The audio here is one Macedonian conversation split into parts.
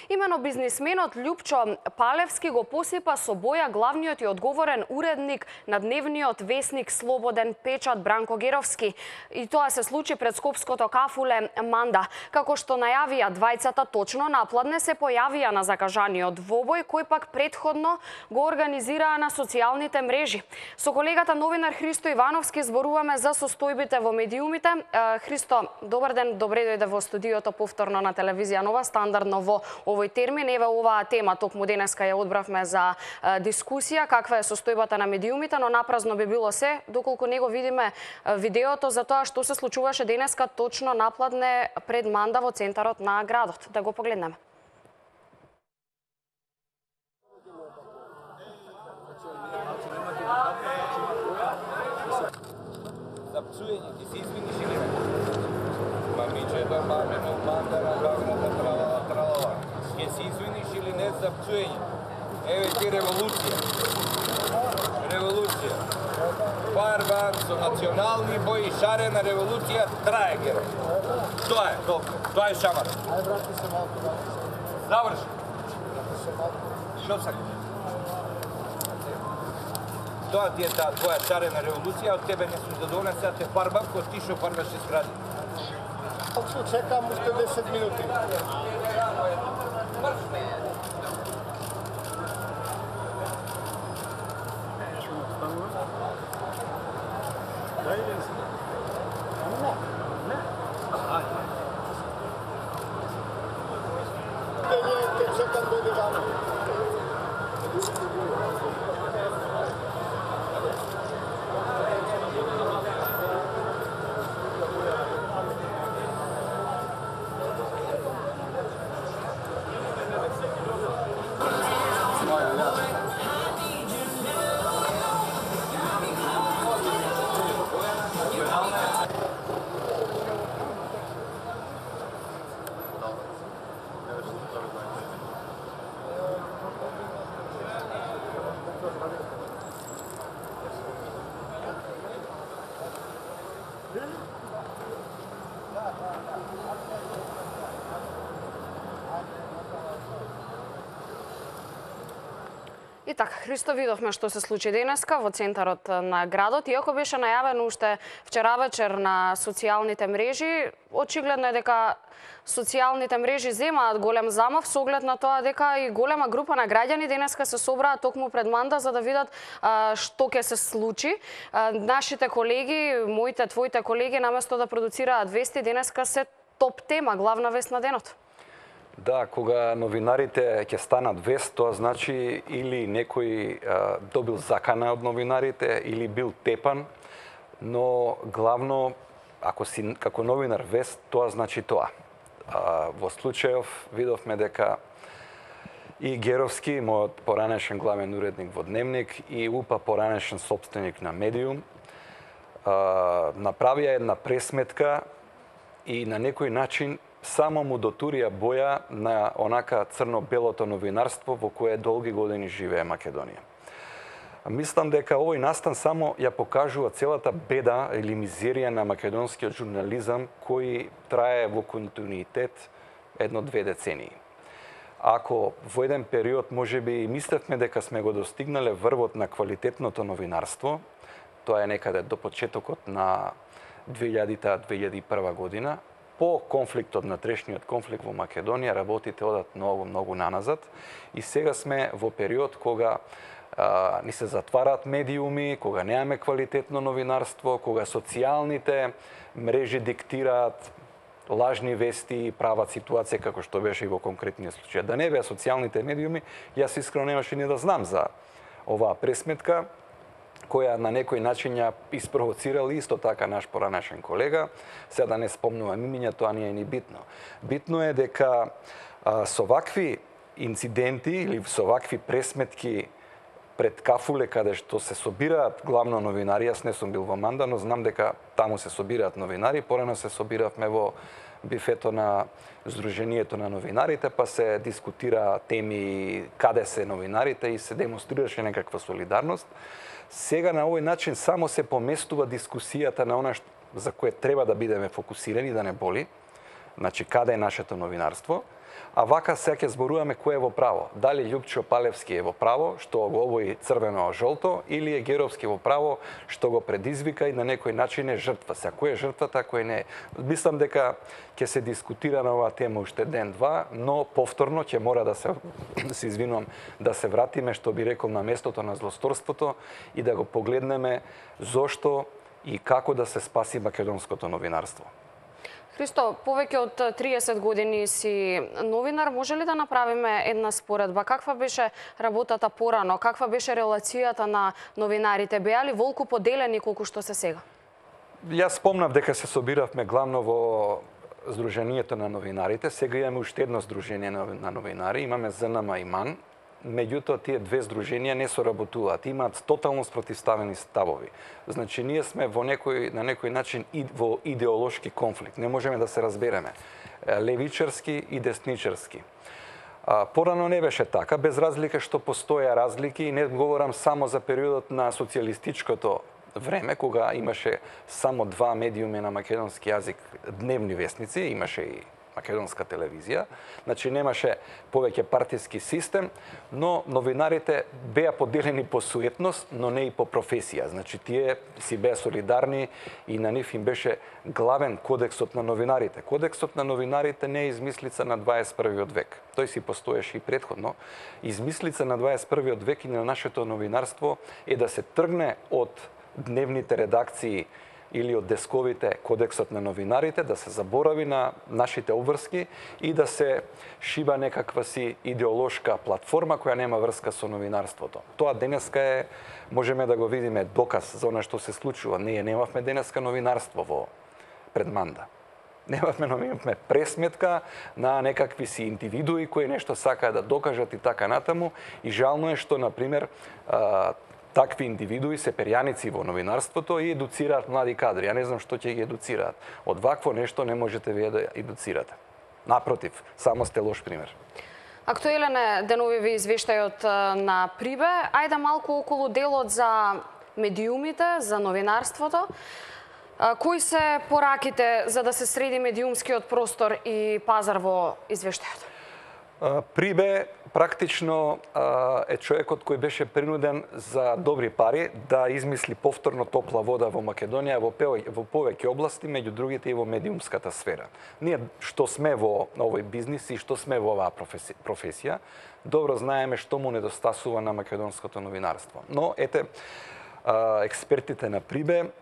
Имено бизнисменот Љупчо Палевски го посипа со боја главниот и одговорен уредник на дневниот весник Слободен печат Бранко Геровски. И тоа се случи пред скопското кафуле Манда. Како што најавија двајцата, точно напладне се појавија на закажаниот двобој, кој пак предходно го организираа на социјалните мрежи. Со колегата новинар Христо Ивановски зборуваме за состојбите во медиумите. Христо, добар ден, добре дојде во студиото повторно на телевизија Нова, стандардно во овој термин. Еве оваа тема токму денеска ја одбравме за дискусија, каква е состојбата на медиумите, но напразно би било се доколку не го видиме видеото за тоа што се случуваше денеска точно напладне пред Манда во центарот на градот. Да го погледнеме. За псуење ти се извиниш или не? Мамичето, мамино, мандара, гагната, тралала. Ќе се извиниш или не за псуење? Еве ти револуција. Револуција. Барба со национални бои, шарена револуција, трае геро. Тоа е, тоа е шамар. Ај, брати се малку. Заврши. Што сакаш? Тоа ти е таа твоја шарена револуција, од тебе не сум да донеса, те фарбам, ко ти шо фарбаше згради. Чекам уште 10 минути. Чекам дојде вама. И така, Христо, видовме што се случи денеска во центарот на градот. Иако беше најавено уште вчера вечер на социјалните мрежи, очигледно е дека социјалните мрежи земаат голем замав со оглед на тоа дека и голема група на граѓани денеска се собраа токму пред Манда за да видат што ќе се случи. Нашите колеги, моите, твоите колеги, наместо да продуцираат вести, денеска се топ тема, главна вест на денот. Да, кога новинарите ќе станат вест, тоа значи или некој добил закана од новинарите, или бил тепан, но главно, ако си како новинар вест, тоа значи тоа. Во случајов видовме дека и Геровски, мојот поранешен главен уредник во Дневник, и УПА поранешен сопственик на Медиум, направија една пресметка и на некој начин само му дотурија боја на онака црно-белото новинарство во кое долги години живее Македонија. Мислам дека овој настан само ја покажува целата беда или мизерија на македонскиот журнализам кој трае во континуитет 1-2 децении. Ако во еден период можеби мислевме дека сме го достигнале врвот на квалитетното новинарство, тоа е некаде до почетокот на 2000-2001 година, по конфликтот, натрешниот конфликт во Македонија, работите одат многу наназад и сега сме во период кога ни се затвараат медиуми, кога немаме квалитетно новинарство, кога социјалните мрежи диктираат лажни вести и прават ситуација како што беше и во конкретниот случај. Да не беа социјалните медиуми, јас искрено немаше ни да знам за оваа пресметка, која на некој начин ја испровоцирал исто така наш поранешен колега. Сега да не спомнувам имиња, тоа не е ни битно. Битно е дека со вакви инциденти или со вакви пресметки пред кафуле каде што се собираат главно новинари, јас не сум бил во Манда, но знам дека таму се собираат новинари, порано се собиравме во бифето на Сдруженијето на новинарите, па се дискутира теми каде се новинарите и се демонстрираше некаква солидарност. Сега на овој начин само се поместува дискусијата на она за кое треба да бидеме фокусирани, да не боли, значи каде е нашето новинарство, А вака сега ќе зборуваме кој е во право. Дали Љупчо Палевски е во право, што го обои црвено-жолто, или е Геровски во право, што го предизвика и на некој начин е жртва. Сега, кој е жртвата, кој не е. Мислам дека ќе се дискутира на оваа тема уште ден-два, но повторно ќе мора да се извинувам, да се вратиме, што би рекол, на местото на злосторството и да го погледнеме зошто и како да се спаси македонското новинарство. Христо, повеќе од 30 години си новинар, може ли да направиме една споредба? Каква беше работата порано? Каква беше релацијата на новинарите? Беа ли волку поделени колку што се сега? Јас спомнав дека се собиравме главно во Сдруженијето на новинарите. Сега имаме уште едно Сдружение на новинари, имаме ЗНМ и МАН. Меѓутоа, тие две здруженија не соработуваат, имаат тотално спротивставени ставови. Значи, ние сме на некој начин во идеолошки конфликт. Не можеме да се разбереме. Левичарски и десничарски. Порано не беше така, без разлика што постоја разлики, и не говорам само за периодот на социјалистичкото време, кога имаше само два медиуми на македонски јазик, дневни вестници, имаше и македонска телевизија, значи немаше повеќе партиски систем, но новинарите беа поделени по суетност, но не и по професија. Значи тие си беа солидарни и на нив им беше главен кодексот на новинарите. Кодексот на новинарите не е измислица на 21. век. Тој си постоеше и претходно. Измислица на 21. век и на нашето новинарство е да се тргне од дневните редакции или од десковите кодексот на новинарите, да се заборави на нашите обврски и да се шиба некаква си идеолошка платформа која нема врска со новинарството. Тоа денеска е, можеме да го видиме, доказ за она што се случува. Ние немавме денеска новинарство во предманда. Немавме пресметка на некакви си индивидуи кои нешто сакаат да докажат и така натаму. И жално е што, например, такви индивидуи се перјаници во новинарството и едуцираат млади кадри. Ја не знам што ќе ги едуцираат. Од вакво нешто не можете вие да едуцирате. Напротив, само сте лош пример. Актуелен е деновиви извештајот на Прибе. Ајде малку околу делот за медиумите, за новинарството. Кои се пораките за да се среди медиумскиот простор и пазар во извештајот? Прибе практично е човекот кој беше принуден за добри пари да измисли повторно топла вода во Македонија во повеќе области, меѓу другите и во медиумската сфера. Ние што сме во овој бизнис и што сме во оваа професија, добро знаеме што му недостасува на македонското новинарство. Но ете, експертите на Прибе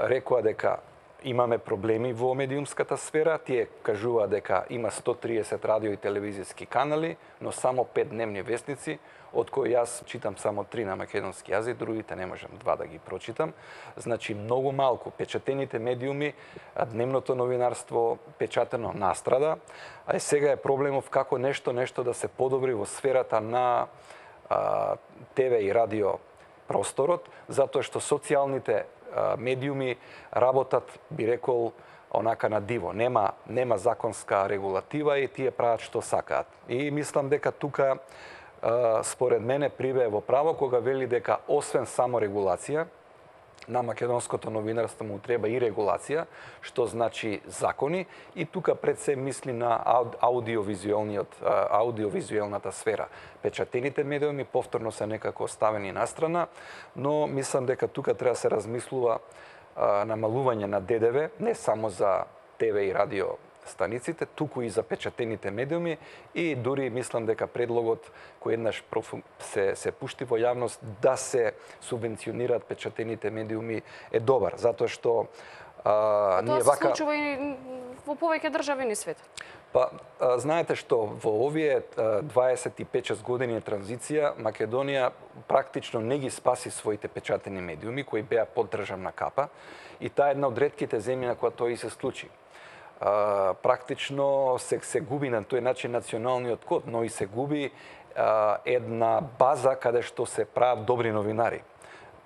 рекоа дека имаме проблеми во медиумската сфера. Тие кажува дека има 130 радио и телевизиски канали, но само 5 дневни вестници, од кои јас читам само 3 на македонски јазик, другите не можам 2 да ги прочитам. Значи многу малку. Печатените медиуми, дневното новинарство печатено настрада, а сега е проблемов како нешто да се подобри во сферата на ТВ и радио просторот, затоа што социјалните медиуми работат, би рекол, онака на диво. Нема законска регулатива и тие прават што сакаат. И мислам дека тука, според мене, Прибе е во право кога вели дека освен само регулација, на македонското новинарство му треба и регулација, што значи закони, и тука пред се мисли на аудиовизуелната сфера. Печатените медиуми повторно се некако оставени настрана, но мислам дека тука треба да се размислува намалување на ДДВ, не само за ТВ и радио станиците, туку и за печатените медиуми, и дури мислам дека предлогот кој еднаш се пушти во јавност да се субвенционираат печатените медиуми е добар, затоа што ние вака... Тоа се случува и во повеќе држави низ светот. Па, знаете што, во овие 25-6 години транзиција, Македонија практично не ги спаси своите печатени медиуми, кои беа под државна капа, и таа е една од ретките земји на која тоа и се случи. Практично се губи на тој начин националниот код, но и се губи една база каде што се прават добри новинари.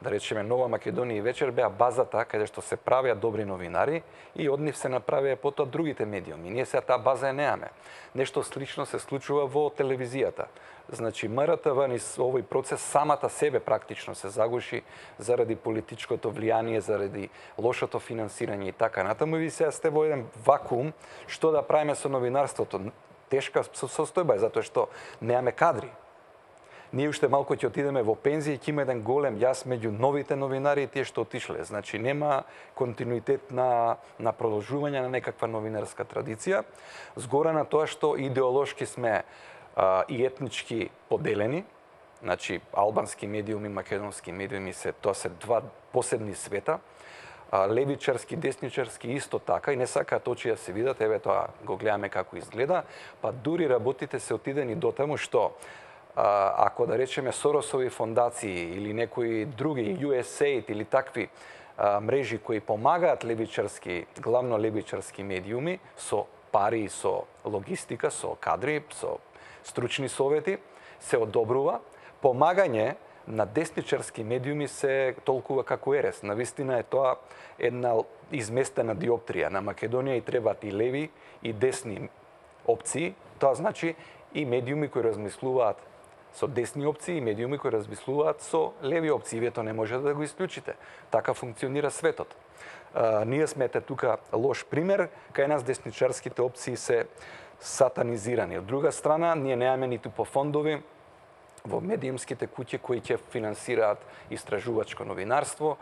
Да речеме, Нова Македонија и Вечер беа базата каде што се правеа добри новинари и од нив се направија потоа другите медиуми. Ние сега таа база ја неаме. Нешто слично се случува во телевизијата. Значи, МРТВ низ овој процес самата себе практично се загуши заради политичкото влијание, заради лошото финансирање и така натаму. И ви сега сте во еден вакуум, што да правиме со новинарството. тешка состојба е затоа што немаме кадри. Ние уште малку ќе отидеме во пензија и ќе има еден голем јас меѓу новите новинари и тие што отишле. Значи нема континуитет на продолжување на некаква новинарска традиција. Згора на тоа што идеолошки сме и етнички поделени. Значи албански медиуми, македонски медиуми тоа се два посебни света. Левичарски, десничарски исто така и не сакаат очи да се видат, еве тоа го гледаме како изгледа, па дури работите се отидени до таму што ако да речеме Соросови фондации или некои други USAID или такви мрежи кои помагаат левичарски, главно левичарски медиуми со пари, со логистика, со кадри, со стручни совети, се одобрува. Помагање на десничарски медиуми се толкува како ерес. Навистина е тоа една изместена диоптрија. На Македонија и требаат и леви и десни опции. Тоа значи и медиуми кои размислуваат со десни опции и медиуми кои размислуваат со леви опции. Вие тоа не може да го исклучите. Така функционира светот. Ние сме тука лош пример, кај нас десничарските опции се сатанизирани. Од друга страна, ние немаме ниту по фондови во медиумските куќи кои ќе финансираат истражувачко новинарство.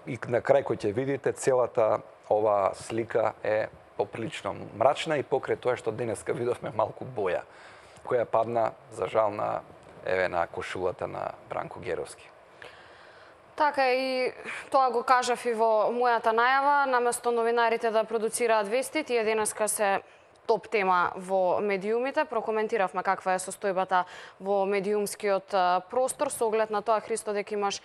И на крај кој ќе видите, целата ова слика е поприлично мрачна и покрај тоа што денеска видовме малку боја, која падна, за жал, на кошулата на Бранко Геровски. Така и тоа го кажав и во мојата најава, наместо новинарите да продуцираат вести, тие денеска се топ тема во медиумите. Прокоментиравме каква е состојбата во медиумскиот простор со оглед на тоа, Христо, дека имаш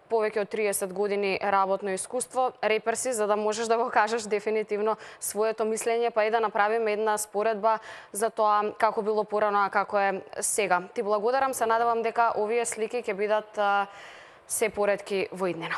повеќе од 30 години работно искуство. Репер си, за да можеш да го кажеш дефинитивно своето мислење, па и да направиме една споредба за тоа како било порано, а како е сега. Ти благодарам, се надевам дека овие слики ќе бидат се поретки во иднина.